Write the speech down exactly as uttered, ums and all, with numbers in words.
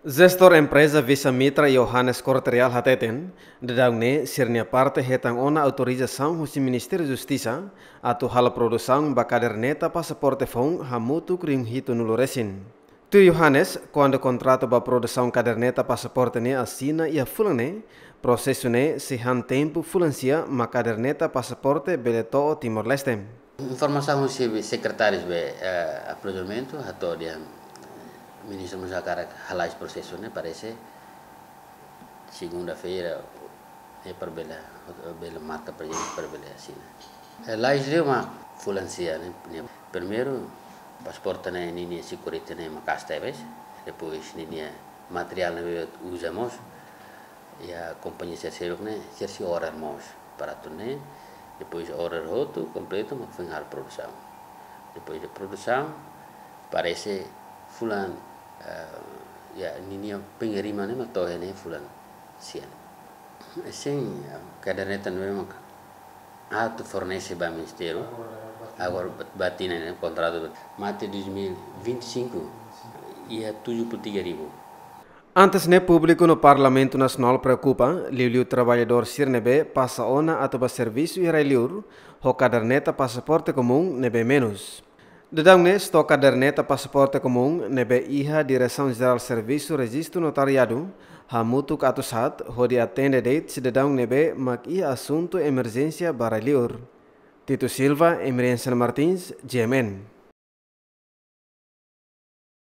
Jestór empreza Visa Mitra Johannes Korte Real hateten, daudaun ne'e sira-nia parte hetan ona autorizasaun husi Ministériu Justisa atu halo produsaun ba kaderneta pasaporte foun hamutuk rihun hitunulu resin. Tuir Johannes, kuandu kontratu ba produsaun kaderneta pasaporte ne'e asina iha fulan ne'e, prosesu ne'e sei han tempu fulan sia mak kaderneta pasaporte bele to'o Timor-Leste. Informasaun husi sekretáriu be, eh, aprovisionamentu, hato'o dehan Ministru mós hakarak hala'o prosesu ne'e, parese segunda-feira, eh, para bele, bele marka prezidente para bele asina. Eh, lais liu mak fulan sia ne'e, ne'e. Primeiru, pasaporte ne'e ninia security ne'e maka'as tebes, depois ninia materiál ne'ebé uza mós, iha kompañia sira seluk ne'e, sira sei order mós para atu ne'e, depois order hotu kompletu mak foin halo produsaun. Depois de produsaun, parese fulan, eh, ya, ninia pengiriman ne'e mak to'o iha ne'e fulan sia. Sin, eh, kaderneta ne'e mak atu fornese ba ministériu. Agora, ba tinan ne'e kontratu mate dois mil e vinte e cinco, iha tujuh puluh tiga ribu. Antes ne'e, públiku no Parlamentu Nasionál preokupa liuliu traballadór sira ne'ebé pasa ona atu ba servisu iha rai-liur, ho kaderneta pasaporte komún ne'ebé menus. Daudaun ne'e, stok kaderneta pasaporte komún ne'ebé iha Diresaun Jerál Servisu Rejistu Notariadu hamutuk atu sa'e hodi atende de'it sidadaun ne'ebé mak iha asuntu emerjénsia ba rai-liur. Tito Silva, Emerenciano Martins, G M N.